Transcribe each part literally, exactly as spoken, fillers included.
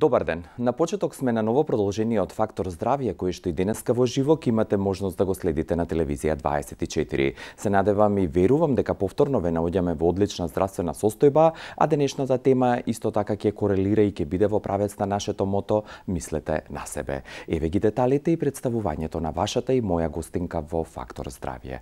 Добар ден. На почеток сме на ново продолжение од Фактор здравје, кој што и денеска во живо имате можност да го следите на телевизија дваесет и четири. Се надевам и верувам дека повторно ве наоѓаме во одлична здравствена состојба, а денешната тема исто така ќе корелира и ќе биде во правец на нашето мото "Мислете на себе". Еве ги деталите и представувањето на вашата и моја гостинка во Фактор здравје.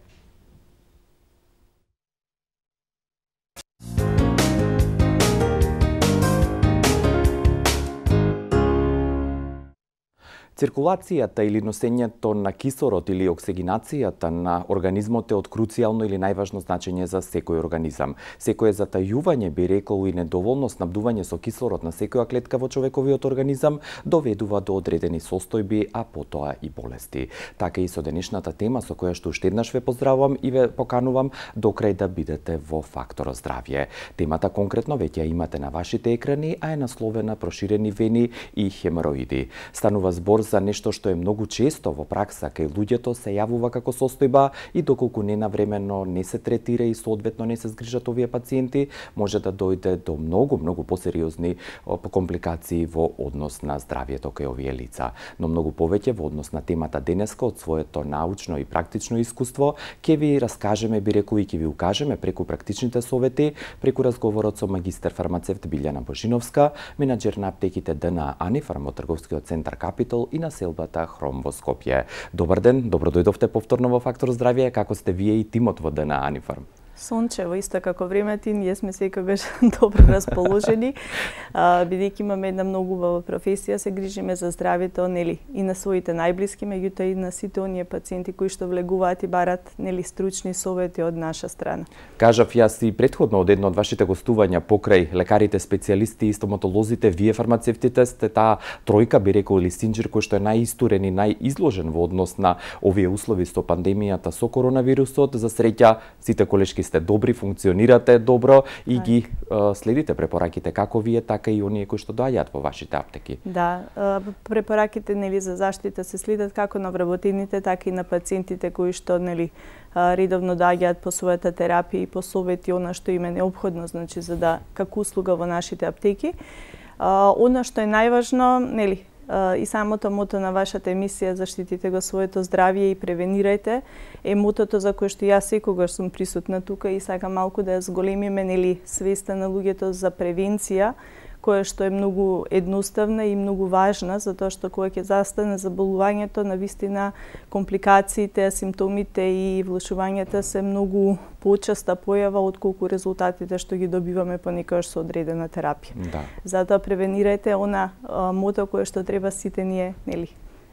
Циркулацијата или носењето на кислород или оксигенацијата на организмот е од круцијално или најважно значење за секој организам. Секое затајување, би рекол, и недоволно снабдување со кислород на секоја клетка во човековиот организам доведува до одредени состојби, а потоа и болести. Така и со денешната тема со која што уште еднаш ве поздравувам и ве поканувам до крај да бидете во Фактор здравје. Темата конкретно веќе ја имате на вашите екрани, а е насловена "Проширени вени и хемороиди". Станува збор за нешто што е многу често во пракса кај луѓето се јавува како состојба и доколку ненавремено не се третира и соодветно не се згрижат овие пациенти, може да дојде до многу, многу посериозни компликации во однос на здравјето кај овие лица. Но многу повеќе во однос на темата денеска од своето научно и практично искуство ќе ви раскажеме, би рекол, и ќе ви укажеме преку практичните совети, преку разговорот со магистер фармацевт Билјана Божиновска, менаџер на аптеките Д Н А Анифарм од трговскиот центар Капитол и населбата Хром во Скопје. Добар ден, добро дојдовте повторно во Фактор здравје. Како сте вие и тимот во Д Н А Анифарм? Сончево, исто како времето, ние сме секогаш добро расположени, бидејќи имаме една многу убава професија, се грижиме за здравјето, нели, и на своите најблиски, меѓутоа и на сите оние пациенти кои што влегуваат и барат, нели, стручни совети од наша страна. Кажав јас и претходно од едно од вашите гостувања покрај лекарите специјалисти и стоматолозите, вие фармацевтите сте таа тројка, би рекол, или синџир кој што е најистурен и најизложен во однос на овие услови со пандемијата со коронавирусот. За среќа сите колешки сте добри, функционирате добро и ги е, следите препораките како вие, така и оние кои што доаѓаат во вашите аптеки. Да, препораките, нели, за заштита се следат како на вработените, така и на пациентите кои што, нели, редовно доаѓаат по својата терапија и по совети она што им е неопходно, значи за да како услуга во нашите аптеки. Она што е најважно, нели, и самото мото на вашата емисија "Заштитите го своето здравје и превенирајте" е мотото за кое што јас секогаш сум присутна тука и сакам малку да ја зголемиме, нели, свеста на луѓето за превенција, која што е многу едноставна и многу важна, затоа што кога ќе застане заболувањето, навистина компликациите, симптомите и влошувањата се многу почеста појава отколку резултатите што ги добиваме понекогаш со одредена терапија. Да. Затоа превенирајте она а, мото кое што треба сите ние, нели,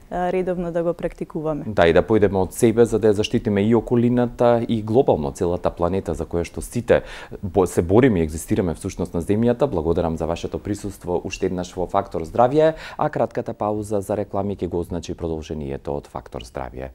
редовно да го практикуваме. Да, и да појдеме од себе за да ја заштитиме и околината и глобално целата планета за која што сите се бориме и екзистираме всушност на земјата. Благодарам за вашето присуство уште еднаш во Фактор здравје, а кратката пауза за реклами ќе го означи продолжението од Фактор здравје.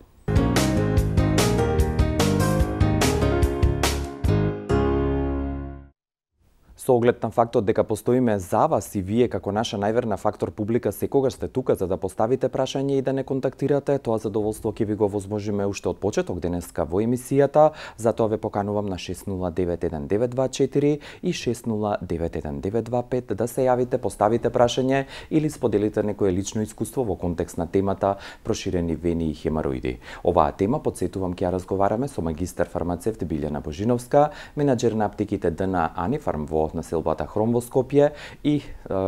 Со оглед на фактот дека постоиме за вас и вие како наша најверна Фактор публика секогаш сте тука за да поставите прашање и да не контактирате, тоа задоволство ќе ви го возможиме уште од почеток денеска во емисијата, затоа ве поканувам на шест нула девет еден девет два четири и шест нула девет еден девет два пет да се јавите, поставите прашање или споделите некое лично искуство во контекст на темата "Проширени вени и хемороиди". Оваа тема, подсетувам, ќе ја разговараме со магистер фармацевт Билјана Божиновска, менаџер на аптеките Д Н А Анифарм во населбата Хром во Скопје и е,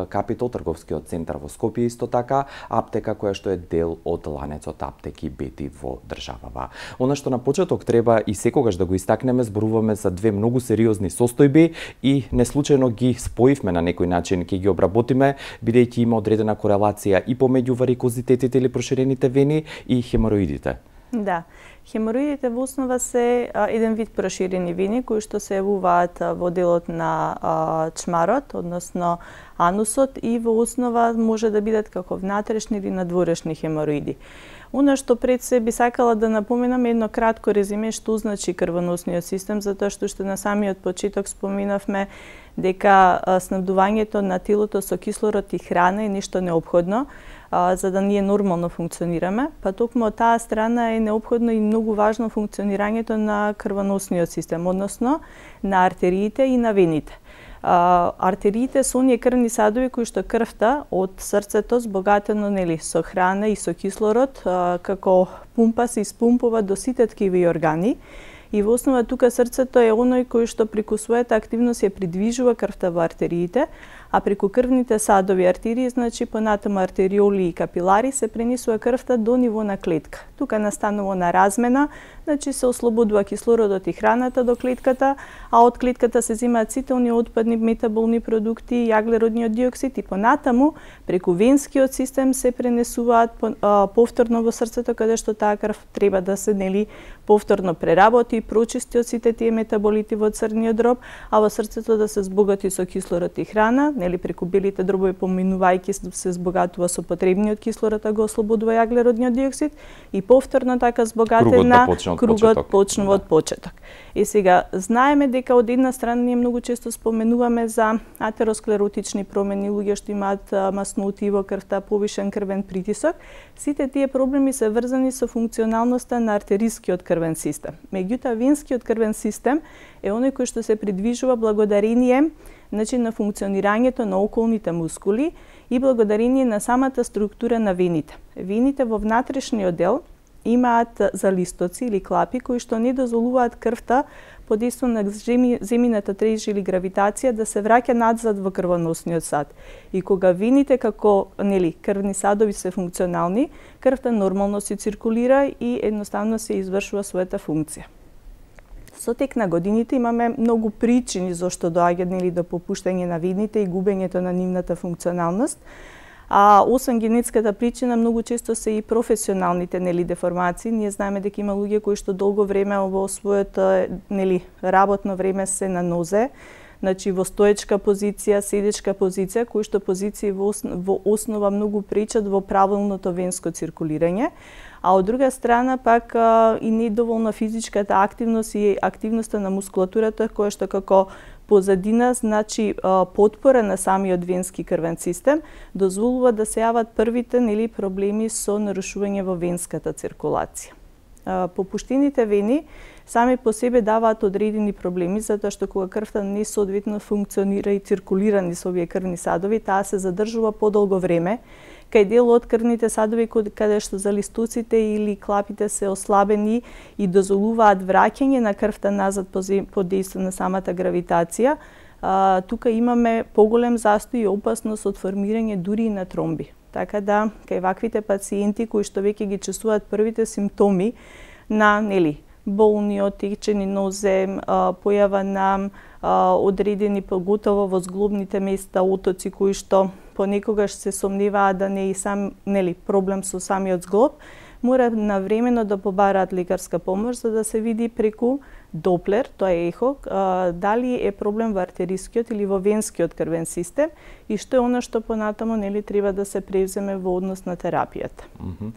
Капитол трговскиот центар во Скопје исто така, аптека која што е дел од ланецот аптеки Бети во државава. Она што на почеток треба и секогаш да го истакнеме, зборуваме за две многу сериозни состојби и неслучајно ги споивме на некој начин, ќе ги обработиме, бидејќи има одредена корелација и помеѓу варикозитетите или проширените вени и хемороидите. Да. Хемороидите во основа се а, еден вид проширени вени кои што се јавуваат во делот на а, чмарот, односно анусот, и во основа може да бидат како внатрешни или надворешни хемороиди. Она што пред се би сакала да напоменам едно кратко резиме што значи крвоносниот систем, затоа што што на самиот почеток споменавме дека снабдувањето на телото со кислород и храна е нешто неопходно, а, за да ние нормално функционираме, па токму од таа страна е неопходно и многу важно функционирањето на крвоносниот систем, односно на артериите и на вените. А, артериите се оние крвни садови кои што крвта од срцето збогатено нели со храна и со кислород, а, како пумпа се испумпува до сите ткиви и органи. И во основа тука срцето е оној кој што преку својата активност ја придвижува крвта во артериите, а преку крвните садови артерии, значи понатаму артериоли и капилари, се пренесува крвта до ниво на клетка. Тука настанува на размена, значи се ослободува кислородот и храната до клетката, а од клетката се земаат сите оние отпадни метаболни продукти, јаглеродниот диоксид и понатаму преку венскиот систем се пренесуваат повторно во срцето, каде што таа крв треба да се нели повторно преработи, прочисти од сите тие метаболити во црниот дроб, а во срцето да се збогати со кислород и храна, нели преку белите дробови поминувајќи се збогатува со потребниот кислород, а го ослободува јаглеродниот диоксид и повторно така збогатена кругот почнува од почеток. И сега знаеме дека од една страна ние многу често споменуваме за атеросклеротични промени, луѓе што имаат масноти во крвта, повишен крвен притисок. Сите тие проблеми се врзани со функционалноста на артерискиот крвен систем. Меѓутоа венскиот крвен систем е оној кој што се придвижува благодарение значи на функционирањето на околните мускули и благодарение на самата структура на вените. Вените во внатрешниот дел имаат залистоци или клапи кои што не дозволуваат крвта под действие на земјината треж или гравитација да се враќа надзад во крвоносниот сад. И кога вените како нели крвни садови се функционални, крвта нормално се циркулира и едноставно се извршува својата функција. Со тек на годините имаме многу причини зошто доаѓа нели до попуштање на вените и губењето на нивната функционалност. А освен генетската причина, многу често се и професионалните нели деформации. Ние знаеме дека има луѓе кои што долго време во своето нели работно време се на нозе, значи во стоечка позиција, седечка позиција, кои што позиции во, во основа многу пречат во правилното венско циркулирање. А од друга страна пак а, и недоволна физичката активност и активноста на мускулатурата која што како позадина, значи потпора на самиот венски крвен систем, дозволува да се јават првите нели проблеми со нарушување во венската циркулација. Попуштените вени сами по себе даваат одредени проблеми, затоа што кога крвта не соодветно функционира и циркулира низ овие крвни садови, таа се задржува подолго време, кај дел од крвните садови каде што залистуците или клапите се ослабени и дозволуваат враќање на крвта назад под дејство на самата гравитација, а, тука имаме поголем застој и опасност од формирање дури и на тромби. Така да, кај ваквите пациенти кои што веќе ги чувствуваат првите симптоми на нели болни, отечени нозе, појава на одредени поготово во зглобните места отоци кои што понекогаш се сомневаат да не е и сам нели проблем со самиот зглоб, мора навремено да побараат лекарска помош за да се види преку Доплер, тоа е ехо, дали е проблем во артерискиот или во венскиот крвен систем и што е она што понатамо нели треба да се превземе во однос на терапијата. Mm-hmm.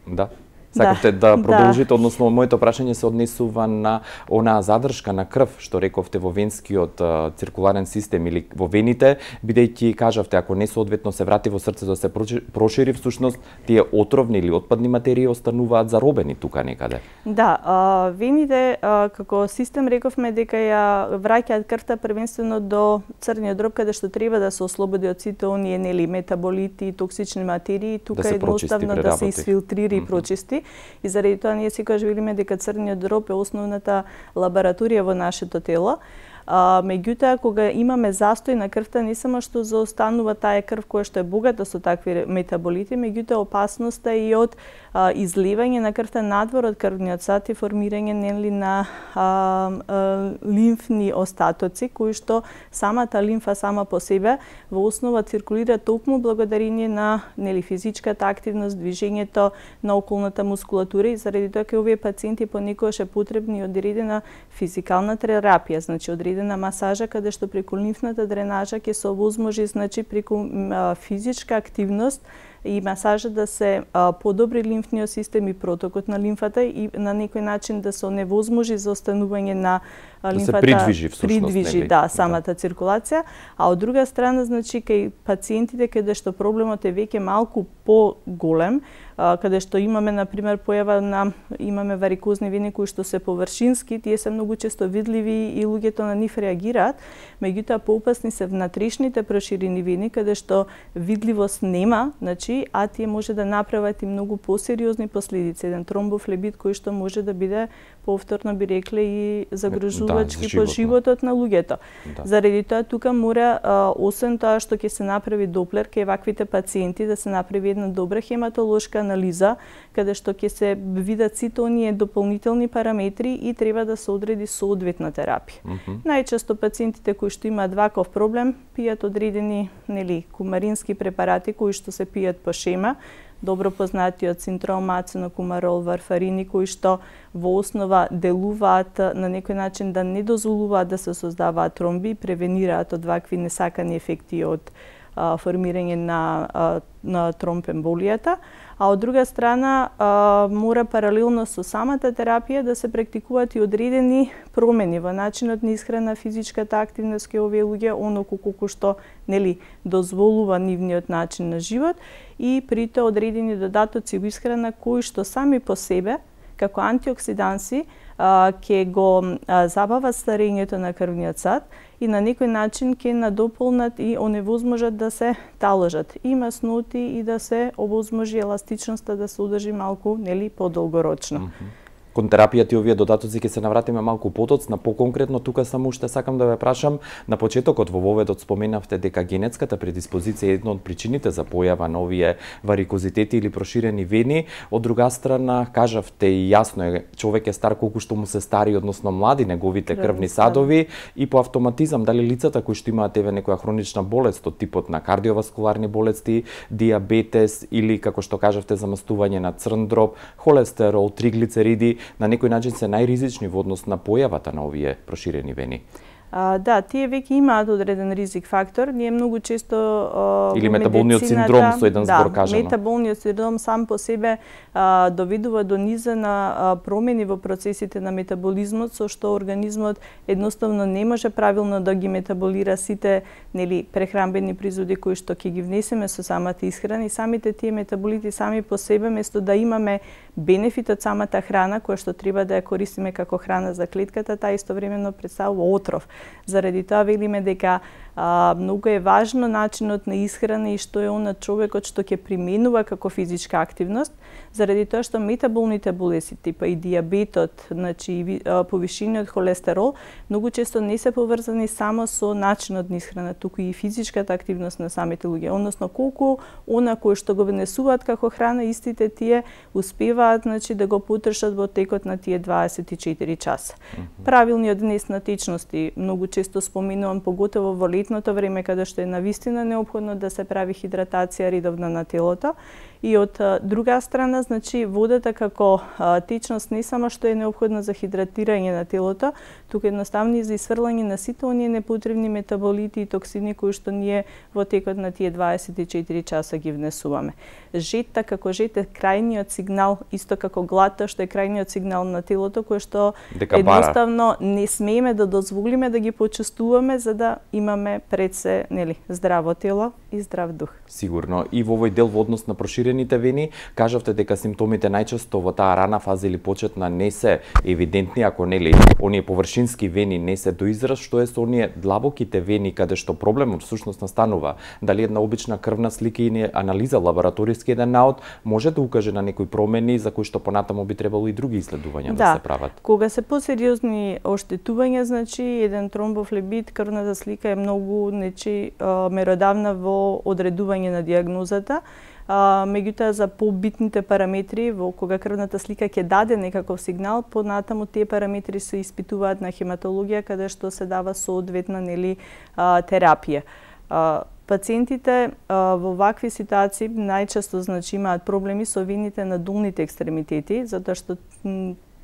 Да. Сакавте да, да продолжите, да. Односно моето прашање се однесува на онаа задршка на крв што рековте во венскиот а, циркуларен систем или во вените, бидејќи кажавте ако не соодветно се врати во срцето се прошири, всушност тие отровни или отпадни материи остануваат заробени тука некаде. Да, а, вените а, како систем рековме дека ја враќаат крвта првенствено до црниот дроб каде што треба да се ослободи од сите оние нели метаболити и токсични материи, тука да едноставно да се изфилтрира и прочисти. И заради тоа ние секогаш велиме дека црниот дроб е основната лабораторија во нашето тело. А, меѓутоа, кога имаме застој на крвта, не само што заостанува таа крв која што е богата со такви метаболити, меѓутоа опасноста и од а, изливање на крвта надвор од крвниот сад и формирање нели на а, а, лимфни остатоци, кои што самата лимфа сама по себе во основа циркулира токму благодарение на нели физичката активност, движењето на околната мускулатура и заради тоа кај овие пациенти понекогаш е потребна и одредена физикална терапија, значи одредена на масажа каде што преку лимфната дренажа ќе се овозможи значи преку а, физичка активност и масажа да се а, подобри лимфниот систем и протокот на лимфата и на некој начин да се оневозможи за останување на лимфата да се придвижи всушност, придвижи, нели? да, самата да. циркулација, а од друга страна, значи, кај пациентите каде што проблемот е веќе малку поголем, каде што имаме, например, појава на имаме варикозни вени кои што се површински, тие се многу често видливи и луѓето на нив реагираат, меѓутоа поопасни се внатрешните проширени вени каде што видливост нема, значи, а тие може да направат и многу посериозни последици, еден тромбофлебит кој што може да биде повторно би рекле и загрижувачки да, по животот на луѓето. Да. Заради тоа тука мора а, освен тоа што ќе се направи доплер кај ваквите пациенти да се направи една добра хематолошка анализа каде што ќе се видат сите оние дополнителни параметри и треба да се одреди соодветна терапија. Mm -hmm. Најчесто пациентите кои што имаат ваков проблем пијат одредени, нели, кумарински препарати кои што се пијат по шема, добро познатиот синтромацин, кумарол, варфарини, кои што во основа делуваат на некој начин да не дозволуваат да се создаваат тромби, превенираат од вакви несакани ефекти од а, формирање на, а, на тромбемболијата, а од друга страна а, мора паралелно со самата терапија да се практикуваат и одредени промени во начинот на исхрана, физичката активност кај овие луѓе, оноку колку што, нели, дозволува нивниот начин на живот и при тоа одредени додатоци во исхрана кои што сами по себе како антиоксиданси ќе го а, забават старењето на крвниот сад и на некој начин ќе надополнат и оневозможат да се таложат и масноти и да се овозможи еластичноста да се одржи малку, нели, подолгорочно. Mm -hmm. Кон терапијата и овие додатоци ќе се навратиме малку потоцна, поконкретно тука само уште сакам да ве прашам, на почетокот во воведот споменавте дека генетската предиспозиција е една од причините за појава на овие варикозитети или проширени вени. Од друга страна, кажавте и јасно е, човек е стар колку што му се стари, односно млади неговите крвни садови и по автоматизам дали лицата кои што имаат еве некоја хронична болест од типот на кардиоваскуларни болести, диабетес или како што кажавте замастување на црн дроб, холестерол, триглицериди, на некој начин се најризични во однос на појавата на овие проширени вени? А, да, тие веќе имаат одреден ризик фактор. Ние многу често а, или метаболниот синдром со еден збор кажано. Да, метаболниот синдром сам по себе а, доведува до низа на а, промени во процесите на метаболизмот, со што организмот едноставно не може правилно да ги метаболира сите, нели, прехранбени производи кои што ќе ги внесеме со самата исхрана и самите тие метаболити сами по себе, место да имаме бенефит од самата храна која што треба да ја користиме како храна за клетката, таа истовремено представува отров. Заради тоа велиме дека а, многу е важно начинот на исхрана и што е он на човекот што ќе применува како физичка активност, заради тоа што метаболните болести, типа и диабетот, значи повишениот холестерол, многу често не се поврзани само со начинот на исхрана, туку и физичката активност на самите луѓе, односно колку она кој што го внесуваат како храна, истите тие успеваат, значи, да го потрошат во текот на тие дваесет и четири часа. Mm -hmm. Правилниот внес на течности, многу често споминувам, поготово во летното време, каде што е навистина неопходно да се прави хидратација редовна на телото. И од друга страна, значи, водата како а, течност не само што е неопходна за хидратирање на телото, туку едноставно и за исфрлање на сите оние непотребни метаболити и токсини кои што ние во текот на тие дваесет и четири часа ги внесуваме. Жетта како жет е крајниот сигнал, исто како глата што е крајниот сигнал на телото, кој што дека едноставно бара. Не смееме да дозволиме да ги почувствуваме за да имаме пред се, нели, здраво тело и здрав дух. Сигурно. И во овој дел во однос на проширените вени, кажавте дека симптомите најчесто во таа рана фаза или почетна не се евидентни, ако нели оние површински вени не се до израз, што е со оние длабоките вени каде што проблемот всушност настанува. Дали една обична крвна слика или анализа лабораториски еден наод може да укаже на некои промени за кои што понатаму би требало и други исследувања да, да се прават. Кога се посериозни оштетувања, значи еден тромбофлебит, крвната слика е многу, нечи, меродавна во одредување на диагнозата. А, меѓутоа за побитните параметри, во кога крвната слика ќе даде некаков сигнал, понатаму тие параметри се испитуваат на хематологија, каде што се дава соодветна, нели, а, терапија. А, пациентите а, во вакви ситуации најчесто, значи, имаат проблеми со вените на долните екстремитети, затоа што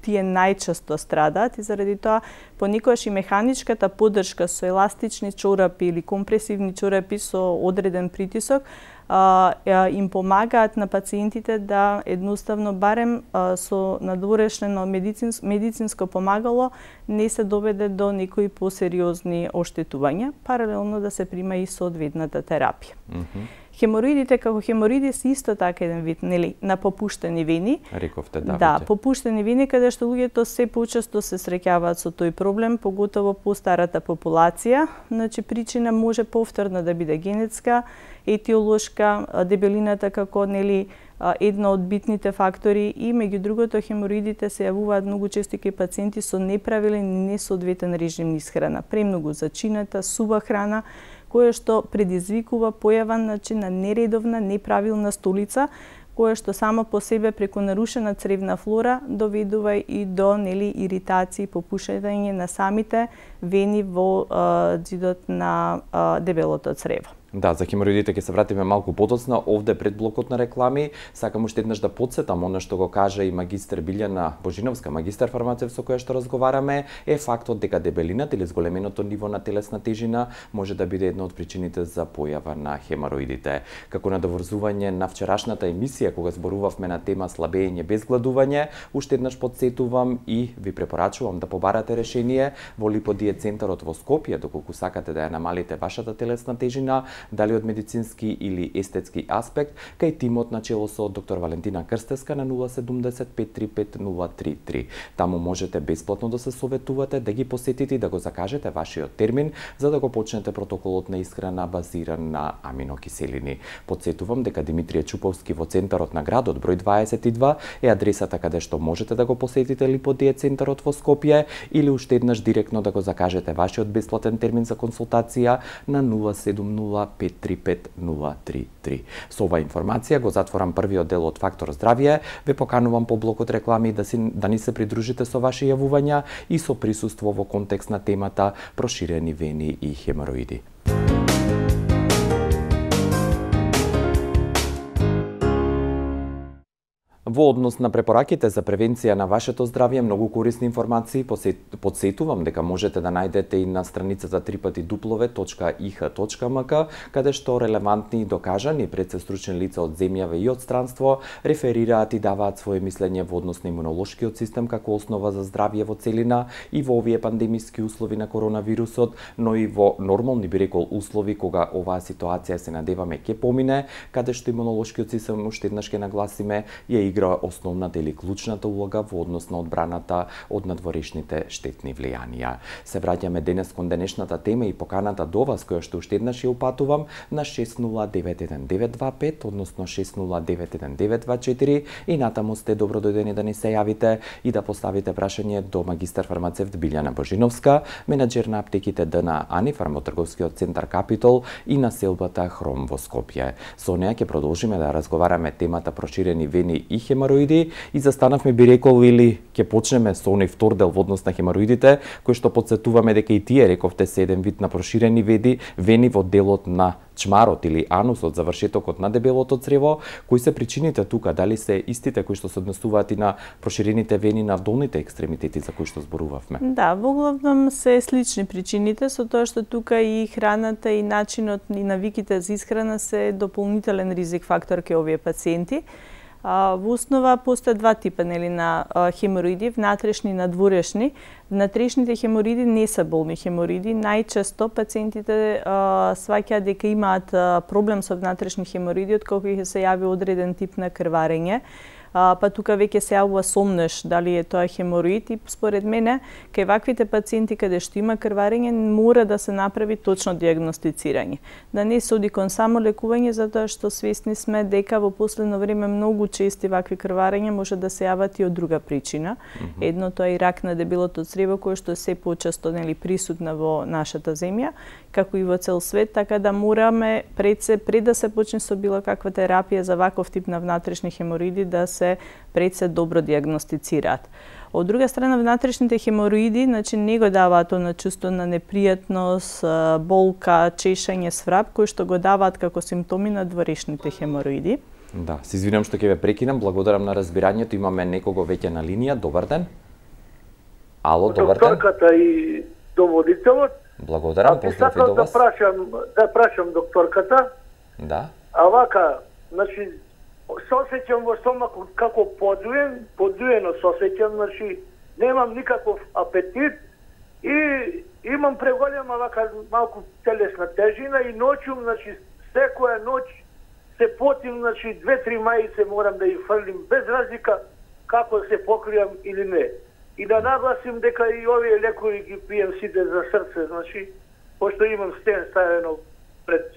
тие најчесто страдаат и заради тоа понекогаш и механичката поддршка со еластични чорапи или компресивни чорапи со одреден притисок а, им помагаат на пациентите да едноставно барем а, со надворешено медицинско, медицинско помагало не се доведе до некои посериозни оштетувања, паралелно да се прима и соодветната терапија. Mm-hmm. Хемороидите како хемороиди се исто така еден вид, нели, на попуштени вени. Рековте, да. Да, попуштени вени каде што луѓето се почесто се среќаваат со тој проблем, поготово по старата популација. Значи причина може повторно да биде генетска, етиолошка, дебелината како, нели, едно од битните фактори и меѓу другото хемороидите се јавуваат многу често кај пациенти со неправилен и несоодветен режим на исхрана, премногу зачината, сува храна, кое што предизвикува појава, значи, на нередовна, неправилна столица, кое што само по себе преку нарушена цревна флора доведува и до, нели, иритации, попушање на самите вени во а, ѕидот на а, дебелото црево. Да, за хемороидите ќе се вратиме малку подоцна. Овде пред блокот на реклами сакам уште еднаш да потсетам она што го кажа и магистер Билјана Божиновска, магистер фармацевт со која што разговараме, е фактот дека дебелината или зголеменото ниво на телесна тежина може да биде една од причините за појава на хемороидите. Како надоврзување на вчерашната емисија кога зборувавме на тема слабење без гладување, уште еднаш потсетувам и ви препорачувам да побарате решение во Липодиет центарот во Скопје, доколку сакате да ја намалите вашата телесна тежина, дали од медицински или естетски аспект, кај тимот на чело со доктор Валентина Крстеска на нула седумдесет пет три пет нула три три. Таму можете бесплатно да се советувате, да ги посетите и да го закажете вашиот термин за да го почнете протоколот на исхрана базиран на аминокиселини. Подсетувам дека Димитрije Чуповски во центарот на градот број дваесет и два е адресата каде што можете да го посетите Липодиет центарот во Скопје или уште еднаш директно да го закажете вашиот бесплатен термин за консултација на нула седум нула пет три пет нула три три. Со оваа информација го затворам првиот дел од Фактор здравје. Ве поканувам по блокот реклами да, си, да ни се придружите со ваши јавувања и со присуство во контекст на темата проширени вени и хемороиди. Во однос на препораките за превенција на вашето здравје, многу корисни информации подсетувам дека можете да најдете и на страницата три пати дуплове точка и х точка м к, каде што релевантни и докажани предсестручни лица од земјаве и од странство реферираат и даваат свое мислење во однос на имунолошкиот систем како основа за здравје во целина и во овие пандемиски услови на коронавирусот, но и во нормални, би рекол, услови кога оваа ситуација се надеваме ќе помине, каде што имунолошкиот систем, уште еднаш ќе нагласиме, ја игра основната или клучната улога во однос на одбраната од надворешните штетни влијанија. Се враќаме денес кон денешната тема и поканата до вас, која што уште еднаш ја упатувам на шест нула девет еден девет два пет, односно шест нула девет еден девет два четири и натаму сте добро дојдени да ни се јавите и да поставите прашање до магистер фармацевт Билјана Божиновска, менаџер на аптеките Д Н Ани, фармотрговскиот центар Капитол и населбата Хром во Скопје. Со неа ќе продолжиме да разговараме темата проширени вени и хемороиди и застанавме, би рекол, или ќе почнеме со оној втор дел во однос на хемороидите, кој што подсетуваме дека и тие, рековте, се еден вид на проширени вени, вени во делот на чмарот или анусот, завршетокот на дебелото црево. Кои се причините тука? Дали се истите кои што се однесуваат и на проширените вени на долните екстремитети за кои што зборувавме? Да, во главном се слични причините, со тоа што тука и храната и начинот и навиките за исхрана се дополнителен ризик фактор кај овие пациенти. А, во основа постојат два типа, нели, на а, хемороиди, внатрешни и надворешни. Внатрешните хемороиди не се болни хемороиди. Најчесто пациентите а, сваќаат дека имаат а, проблем со внатрешни хемороиди откако ќе се јави одреден тип на крварење. А, па тука веќе се јавува сомнеш дали е тоа хемороид и според мене кај ваквите пациенти каде што има крварење мора да се направи точно диагностицирање. Да не се оди кон само лекување, затоа што свесни сме дека во последно време многу чести вакви крварења може да се јават и од друга причина. Mm-hmm. Едното е и рак на дебелото црево кој што е се почесто, нели, присутна во нашата земја, како и во цел свет, така да мораме пред се пред да се почне со било каква терапија за ваков тип на внатрешни хемороиди да се пред се добро диагностицираат. Од друга страна, внатрешните хемороиди, значи, не го даваат она чувство на непријатност, болка, чешање, сврап, кои што го даваат како симптоми на дворешните хемороиди. Да, се извинувам што ќе ве прекинам, благодарам на разбирањето. Имаме некого веќе на линија. Добар ден. Ало, добар ден. Докторката и доводителот. Благодарам, поздрав и до вас. Да прашам, да прашам докторката. Да. А вака, значи, се осеќам во стомакот како подуен, подуено се осеќам, значи, немам никаков апетит и имам преголема вака малку телесна тежина и ноќум, значи, секоја ноќ се потим, значи, две-три мајице морам да ги фрлим, без разлика како се покријам или не. И да нагласим дека и овие лекови ги пием сите за срце, значи, пошто имам стен ставено пред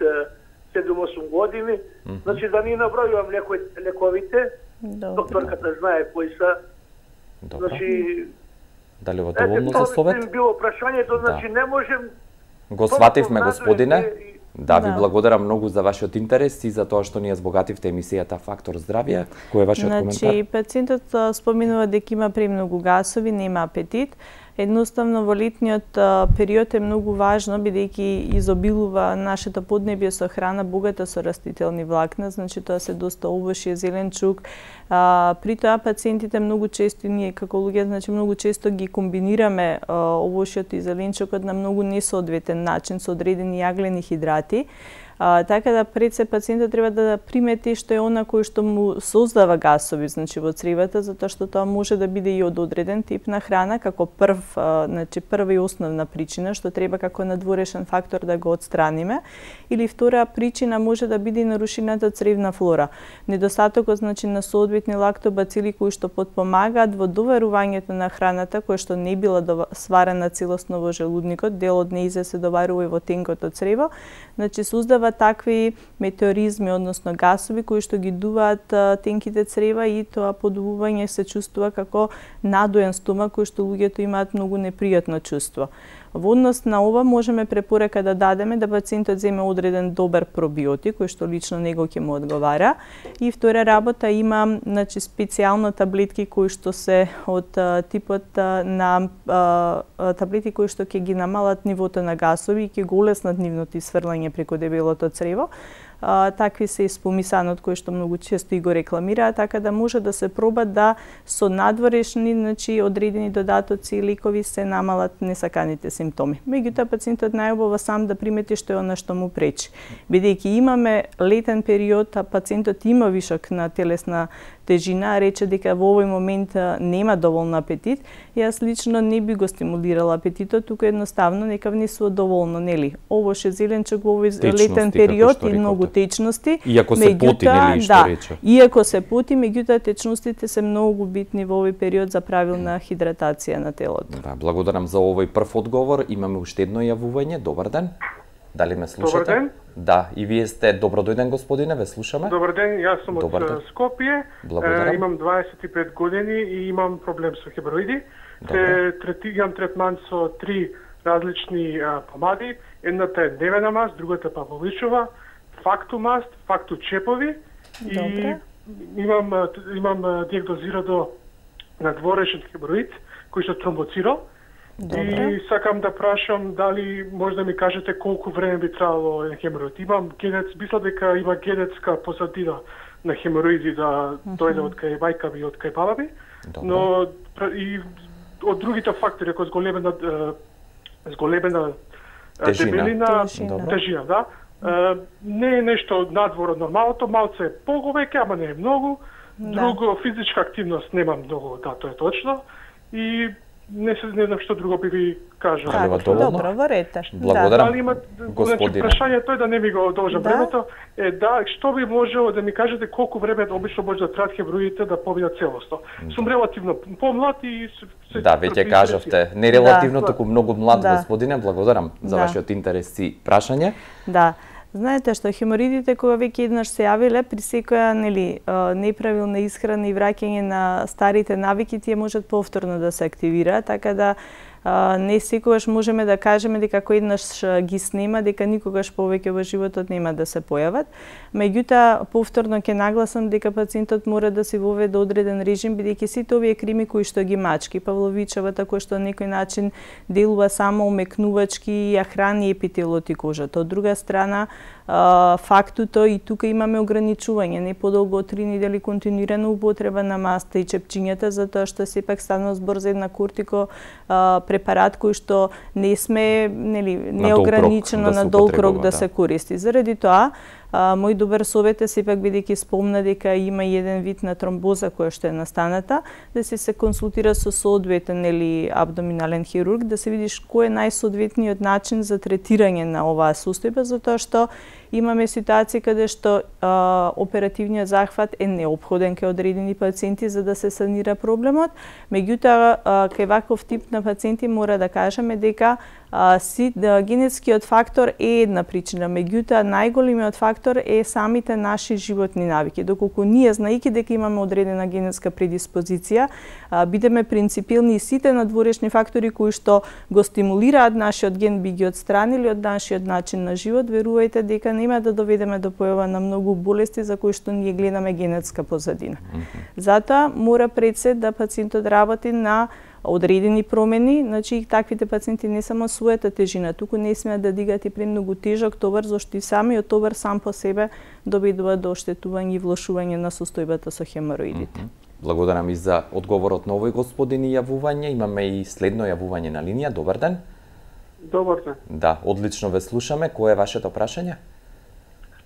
седум-осум години, mm -hmm. значи да ни набројувам леко, лековите, Добре. Докторката знае кои са. Добре. Значи, дали во доволно за совет? Ете, било прашањето, значи да. Не можем... Го свативме, господине. Да, ви да. благодарам многу за вашиот интерес и за тоа што ни ја збогативте емисијата Фактор здравје. Кој е вашиот значи, коментар? Значи, пациентот споминува дека има премногу гасови, нема апетит. Едноставно во летниот период е многу важно, бидејќи изобилува нашето поднебје со храна богата со растителни влакна, значи тоа се доста овошје, зеленчук. А, при тоа пациентите многу често, ние како луѓе, значи многу често ги комбинираме а, овошјето и зеленчукот на многу несоодветен начин со одредени јаглени хидрати. А, така да пред се пациентот треба да примети што е она кој што му создава гасови, значи во цревата, затоа што тоа може да биде и од одреден тип на храна како прв, а, значи прва и основна причина што треба како надворешен фактор да го отстраниме, или втора причина може да биде и нарушената цревна флора. Недостатокот значи на соодветни лактобацили кои што потпомагаат во доварувањето на храната која што не била сварена целосно во желудникот, дел од нејзе се доварува и во тенкото црево, значи создава такви метеоризми, односно гасови кои што ги дуваат тенките црева и тоа подувување се чувствува како надоен стомак кој што луѓето имаат многу непријатно чувство. Во однос на ова можеме препорека да дадеме да пациентот земе одреден добар пробиотик кој што лично него ќе му одговара. И втора работа има значи специјално таблетки кои што се од а, типот а, на а, таблети кои што ќе ги намалат нивото на гасови и ќе го улеснат нивното исфрлање преку дебелото црево. Uh, такви се испомисанот кои што многу често и го рекламираат, така да може да се проба да со надворешни, значи одредени додатоци и лекови се намалат несаканите симптоми. Меѓутоа пациентот најубаво сам да примети што е она што му пречи. Бидејќи имаме летен период, а пациентот има вишок на телесна тежина, рече дека во овој момент нема доволно апетит, јас лично не би го стимулирала апетитот, туку едноставно нека внесува доволно, нели? Овоше зеленчук во овој летен период и многу течности. Иако се поти, нели, што да, рече? Иако се поти, меѓутоа течностите се многу битни во овој период за правилна хидратација на телото. Да, благодарам за овој прв одговор. Имаме уште едно јавување. Добар ден. Дали ме слушате? Добар ден. Да, и вие сте добродојден господине, ве слушаме. Добар ден, јас сум од Скопје. Благодарам. Е, имам дваесет и пет години и имам проблем со хемороиди. Се третирам третман со три различни а, помади. Едната е Невена маст, другата Павловичова, Фактумаст, Фактучепови и имам имам диагнозирано надворешен хемороид кој што тромбоцирал. И сакам да прашам дали може да ми кажете колку време би требало еден хемороид. Имам генец, мислам дека има генетска позадина на хемороиди да дојде од кај мајка ми и од кај баба ми. Но и од другите фактори, како зголемена зголемена дебелина, тежина, да. Uh, не е нешто надвор од нормалното, малце е поговеќе, ама не е многу. Друго, да. Физичка активност немам многу, да, тоа е точно. И не се не знам што друго би ви кажал. Така, добро, во ред. Благодарам, да. Има, господине. Значи, прашањето е да не ми го должам да? времето, е да, што би можело да ми кажете колку време обично може да траат хемороидите да поминат целосно. Да. Сум релативно помлад и се да, веќе кажавте, не релативно, да. туку многу млад да. господине, благодарам за да. вашиот интерес и прашање. Да. Знаете што хеморидите кога веќе еднаш се јавиле, при секоја нели неправилна исхрана и враќање на старите навики тие можат повторно да се активираат, така да Uh, не секогаш можеме да кажеме дека кој еднаш ги снема, дека никогаш повеќе во животот нема да се појават. Меѓутоа, повторно ќе нагласам дека пациентот мора да се воведе одреден режим, бидејќи сите овие крими кои што ги мачки, Павловичевата кој што на некој начин делува само умекнувачки и ја храни епителот и кожата. Од друга страна, uh, фактуто и тука имаме ограничување, не подолго од три недели континуирана употреба на маста и чепчињата, затоа што сепак станува збор за една кортико uh, препарат кој што не сме нели неограничено на долг рок да, да се користи. Заради тоа А, мој добар совет е сепак, бидејќи спомна дека има еден вид на тромбоза која што е настаната, да се се консултира со соодветен нели абдоминален хирург, да се видиш кој е најсоодветниот начин за третирање на оваа состојба, затоа што имаме ситуации каде што а, оперативниот захват е неопходен кај одредени пациенти за да се санира проблемот. Меѓутоа, кај ваков тип на пациенти мора да кажеме дека а, си, да, генетскиот фактор е една причина, меѓутоа најголемиот фактор е самите наши животни навики. Доколку ние, знаејќи дека имаме одредена генетска предиспозиција, а, бидеме принципилни и сите надворешни фактори кои што го стимулираат нашиот ген би ги отстранили од нашиот начин на живот, верувајте дека нема да доведеме до појава на многу болести за кои што ние гледаме генетска позадина. Mm-hmm. Затоа мора пред се да пациентот работи на одредени промени, значи таквите пациенти не само својата тежина, туку не смеат да дигат и премногу тежок товар, зашто и самиот товар сам по себе доведува до оштетување и влошување на состојбата со хемороидите. Mm -hmm. Благодарам и за одговорот на овој господин и јавување. Имаме и следно јавување на линија. Добар ден. Добар ден. Да, одлично ве слушаме. Кое е вашето прашање?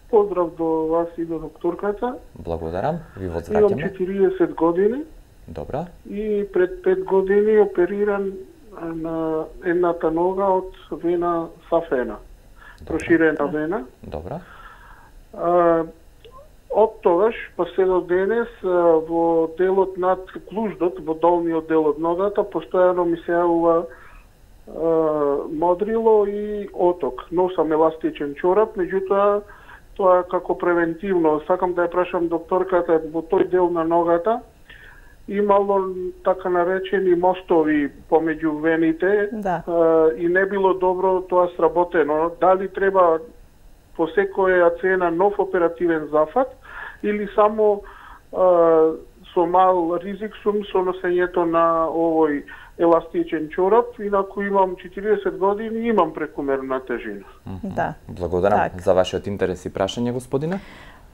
Поздрав до вас и до докторката. Благодарам. Ви Имам возвраќаме. четириесет години. Добра. И пред пет години опериран на едната нога од вена сафена. Проширена вена. Добра. А, од тогаш, па се до денес, во делот над клуждот, во долниот дел од ногата, постојано ми се јавува модрило и оток. Носам еластичен чорап, меѓутоа тоа како превентивно. Сакам да ја прашам докторката, во тој дел на ногата имало така наречени мостови помеѓу вените, да. а, и не било добро тоа сработено. Дали треба по секоја цена нов оперативен зафат или само а, со мал ризик сум со носењето на овој еластичен чорап, инаку имам четириесет години и имам прекумерна тежина. Mm-hmm. Да. Благодарам так. за вашиот интерес и прашање, господине.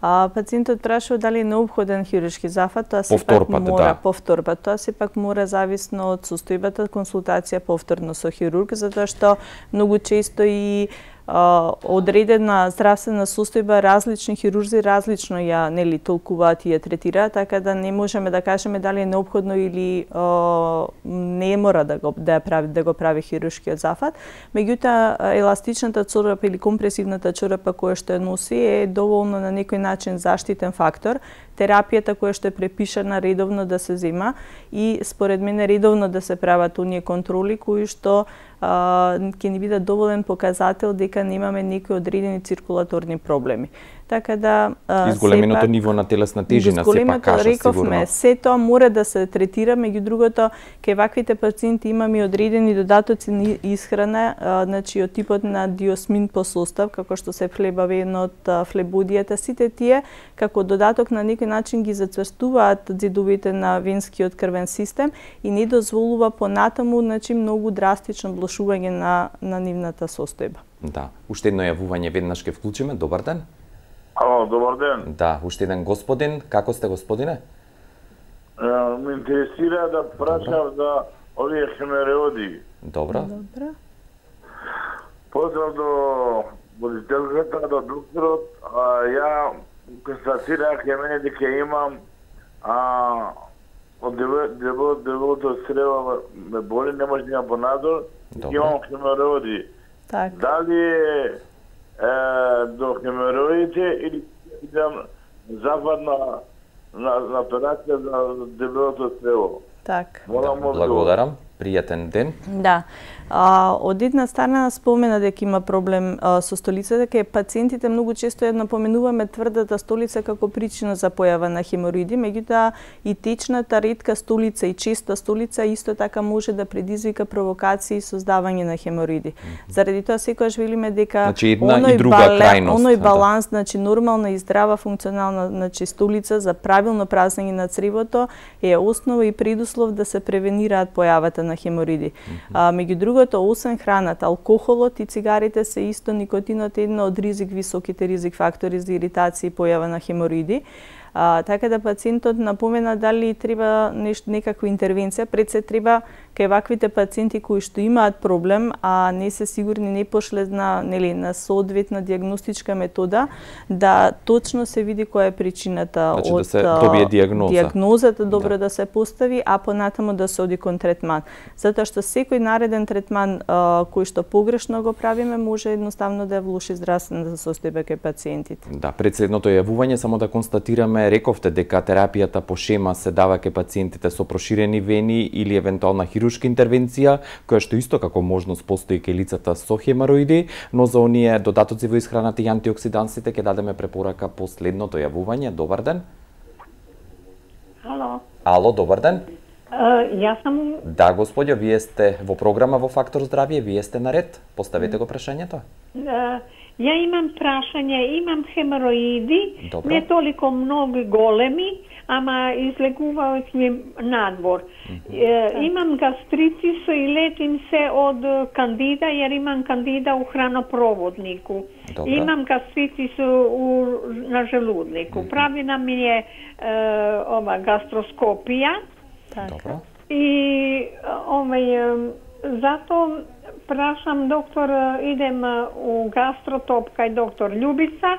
А, пациентот прашува дали е необходен хируршки зафат, тоа повтор сепак пат, мора да. повтор пат, тоа сепак мора зависно од состојбата, консултација повторно со хирург, затоа што многу често и а, одредена здравствена состојба различни хирурзи различно ја нели толкуваат и ја третираат, така да не можеме да кажеме дали е неопходно или а, не мора да го да ја прави да го прави хируршкиот зафат. Меѓутоа еластичната чорапа или компресивната чорапа која што ја носи е доволно на некој начин заштитен фактор. Терапијата која што е препишана редовно да се зема и според мене редовно да се прават оние контроли кои што ќе ни бидат доволен показател дека немаме некои одредени циркулаторни проблеми. Така да изголеменото сепак, ниво на телесна тежина сепак кажа рековме, сигурно. се тоа мора да се третира, меѓу другото кај ваквите пациенти имаме одредени додатоци на исхрана, а, значи од типот на диосмин по состав, како што се флебавен од флебодијата, сите тие како додаток на некој начин ги зацврстуваат зидовите на венскиот крвен систем и не дозволува понатаму, значи многу драстично влошување на на нивната состојба. Да, уште едно јавување веднаш ќе вклучиме. Добар ден. Ало, добар ден. Да, уште еден господин. Како сте, господине? Uh, ме интересира да прашам за овие хемероиди. Добро. Добро. Поздрав до водителката, до докторот. Uh, ја констатирах ја мене дека имам uh, од дебелото дебелото срево ме боли, не може да имам понадор. Имам хемероиди. Так. Дали е е, до хемероидите или идам зафат на, на, на операција за дебелото срево. Так. Да, благодарам. Пријатен ден. Да. А, од една страна спомена дека има проблем а, со столицата, дека пациентите многу често ја напоменуваме тврдата столица како причина за појава на хемороиди, меѓутоа и течната ретка столица и честа столица исто така може да предизвика провокации и создавање на хемороиди. Mm-hmm. Заради тоа секогаш велиме дека значи, една оној, и друга бале, крајност, оној да. баланс, значи нормална и здрава функционална значи столица за правилно празнење на цревото е основа и предуслов да се превенираат појавата на хемороиди. Mm-hmm. А, меѓу другото, освен храната, алкохолот и цигарите се исто никотинот е една од ризик, високите ризик фактори за иритација и појава на хемороиди. А, така да пациентот напомена дали треба нешто, некаква интервенција, пред се треба кај ваквите пациенти кои што имаат проблем, а не се сигурни, не пошле на, нели, на соодветна диагностичка метода, да точно се види која е причината, значи, од да се добие диагноза. Диагнозата добро да. да се постави, а понатаму да се оди кон третман. Затоа што секој нареден третман а, кој што погрешно го правиме може едноставно да влоши здравствената состојба кај пациентите. Да, пред следното јавување само да констатираме, рековте дека терапијата по шема се дава кај пациентите со проширени вени или евентуална хируршка интервенција, која што исто како можност постои кај лицата со хемороиди, но за оние додатоци во исхраната и антиоксидансите ќе дадеме препорака по следното јавување. Добар ден. Ало. Ало, добар ден. Uh, јас сум... Да, господјо, вие сте во програма во Фактор здравје, вие сте на ред. Поставете го прашањето. Uh, ја имам прашање, имам хемороиди, Добро. не толико многу големи, ама излегуваат ми надвор. Mm-hmm. Uh, имам гастритис и лечим се од кандида, jer имам кандида у хранопроводнику. Добро. Имам гастритис у, на желуднику. Mm-hmm. Правина ми е uh, ова гастроскопија. Добро. И овај, зато прашам доктор, идем у гастротоп кај доктор Љубица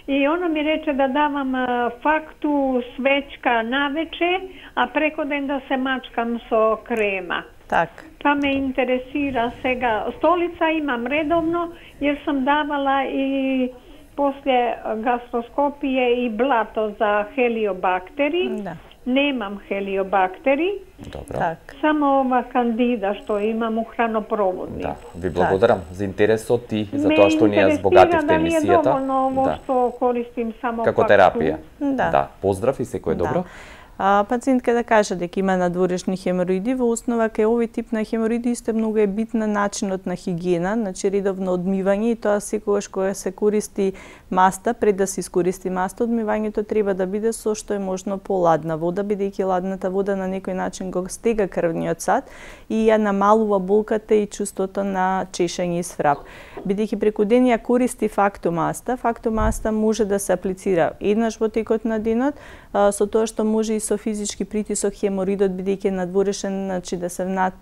и она ми рече да давам факту свечка навече, а преко ден да се мачкам со крема. Так. Па ме интересира сега. Столица имам редовно, jer сам давала и после гастроскопије и блато за хелиобактери. Да. Немам хелиобактери. Добро. Так. Само ова кандида што имам у хранопроводник. Да, ви благодарам так. за интересот и за тоа што ни ја збогативте емисијата. Ме интересира дали е доволно ово да. што користим само како факту. терапија. Да. Да, поздрав и секој добро. Да. А, пациентка да каже дека има надворешни хемороиди, во основа кај овој тип на хемороиди исто многу е битна начинот на хигиена, значи редовно одмивање и тоа секогаш кога се користи маста, пред да се искористи маста, одмивањето треба да биде со што е можно поладна вода, бидејќи ладната вода на некој начин го стега крвниот сад и ја намалува болката и чувството на чешање и сврап. Бидејќи преку ден ја користи фактомаста, фактомаста може да се аплицира еднаш во текот на денот, со тоа што може и со физички притисок хеморидот бидејќи е надворешен, значи да се внат,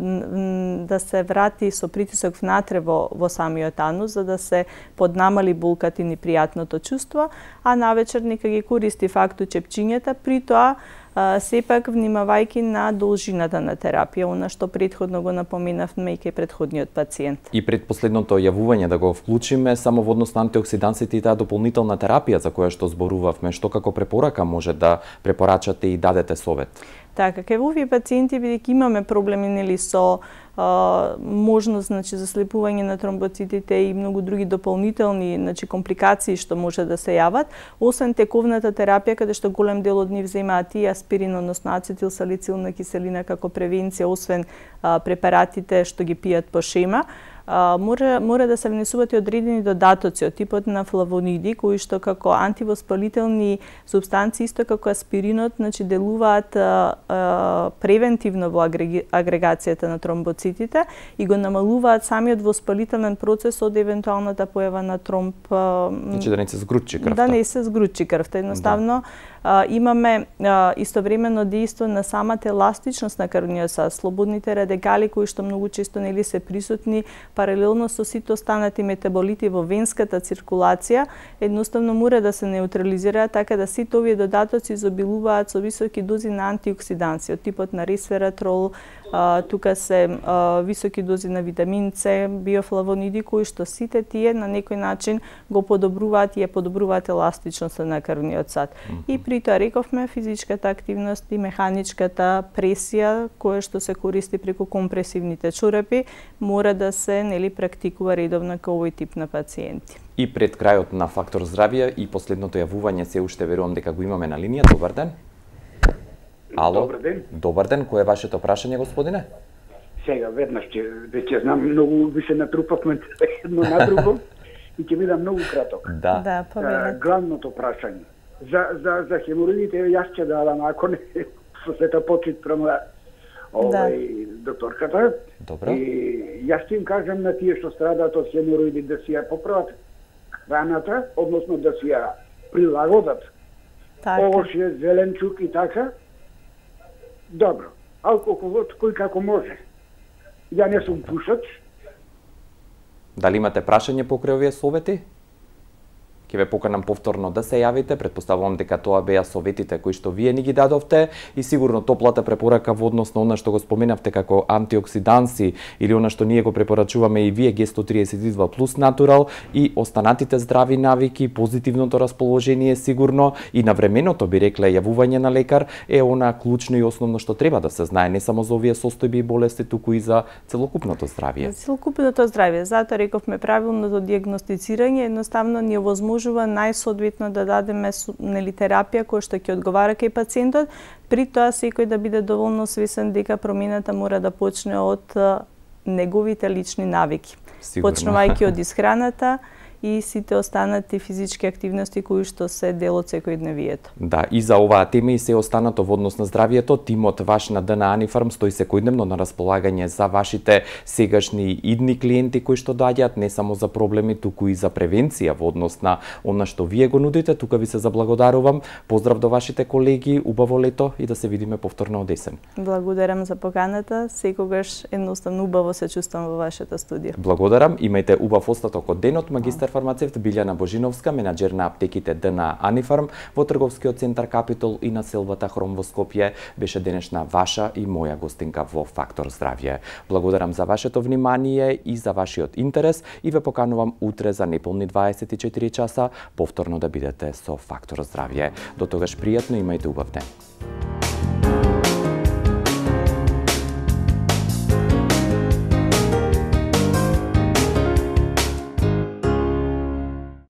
да се врати со притисок внатре во во самиот анус за да се поднамали болката и непријатното чувство, а навечер нека ги користи факту чепчињата, при тоа а, сепак внимавајќи на должината на терапија, она што претходно го напоменавме и кај претходниот пациент. И пред последното јавување да го вклучиме само во однос на антиоксидансите и таа дополнителна терапија за која што зборувавме, што како препорака може да препорачате и дадете совет? Така, кај овие пациенти бидејќи имаме проблеми нели со а, можност значи заслепување на тромбоцитите и многу други дополнителни значи компликации што може да се јават, освен тековната терапија каде што голем дел од нив земаат и аспирин, односно ацетилсалицилна киселина како превенција, освен а, препаратите што ги пијат по шема, Uh, мора, мора да се внесуваат и одредени додатоци од типот на флавониди, кои што како антивоспалителни супстанции, исто како аспиринот, значи делуваат uh, uh, превентивно во агреги, агрегацијата на тромбоцитите и го намалуваат самиот воспалителен процес од евентуалната појава на тромб. Uh, значи да не се згручи крвта. Да не се згручи крвта. Едноставно, да. uh, имаме uh, истовремено дејство на самата еластичност на крвниот сад, слободните радикали кои што многу често нели се присутни паралелно со сите останати метаболити во венската циркулација, едноставно мора да се неутрализираат, така да сите овие додатоци изобилуваат со високи дози на антиоксиданси, од типот на ресвератрол, а, тука се а, високи дози на витамин С, биофлавониди, кои што сите тие на некој начин го подобруваат и ја подобруваат еластичноста на крвниот сад. Mm -hmm. И при тоа рековме физичката активност и механичката пресија, која што се користи преку компресивните чорапи, мора да се нели практикува редовно кај овој тип на пациенти. И пред крајот на Фактор здравје и последното јавување се уште верувам дека го имаме на линија. Добар ден. Ало. Добар ден. Добар ден. Кој е вашето прашање, господине? Сега веднаш ќе веќе знам многу ви се натрупавме едно на друго и ќе бидам многу краток. Да. Да, повелете. Главното прашање за за за хемороидите јас ќе дадам, ако не со сета почит према овај да. докторката. Добро. И јас ќе им кажам на тие што страдаат од хемороиди да си ја поправат храната, односно да си ја прилагодат Така. овошје, зеленчук и така. Добро. Алкохолот кој како може. Ја не сум пушач. Дали имате прашање покрај овие совети? Ќе ве поканам повторно да се јавите, претпоставувам дека тоа беа советите кои што вие ни ги дадовте и сигурно топлата препорака во однос на она што го споменавте како антиоксиданси или она што ние го препорачуваме и вие Г сто триесет и два плюс Натурал и останатите здрави навики, позитивното расположение сигурно и навременото би рекле јавување на лекар е она клучно и основно што треба да се знае не само за овие состојби и болести, туку и за целокупното здравје. За целокупното здравје, затоа рековме правилното дијагностицирање едноставно ни овозможува најсоодветно да дадеме нели терапија која што ќе одговара кај пациентот, при тоа секој да биде доволно свесен дека промената мора да почне од неговите лични навики. Сигурно. Почнувајќи од исхраната и сите останати физички активности кои што се дел од секојдневието. Да, и за оваа тема и се останато во однос на здравието, тимот ваш на ДНА Анифарм стои секојдневно на располагање за вашите сегашни и идни клиенти кои што доаѓаат не само за проблеми, туку и за превенција во однос на она што вие го нудите. Тука ви се заблагодарувам. Поздрав до вашите колеги, убаво лето и да се видиме повторно од есен. Благодарам за поканата. Секогаш едноставно убаво се чувствам во вашата студија. Благодарам. Имајте убав остаток од денот. Магистар фармацевт Билјана Божиновска, менаџер на аптеките ДНА Анифарм во трговскиот центар Капитол и на селвата Хром во Скопје, беше денешна ваша и моја гостинка во Фактор здравје. Благодарам за вашето внимание и за вашиот интерес и ве поканувам утре за неполни дваесет и четири часа повторно да бидете со Фактор здравје. До тогаш пријатно, имајте убав ден.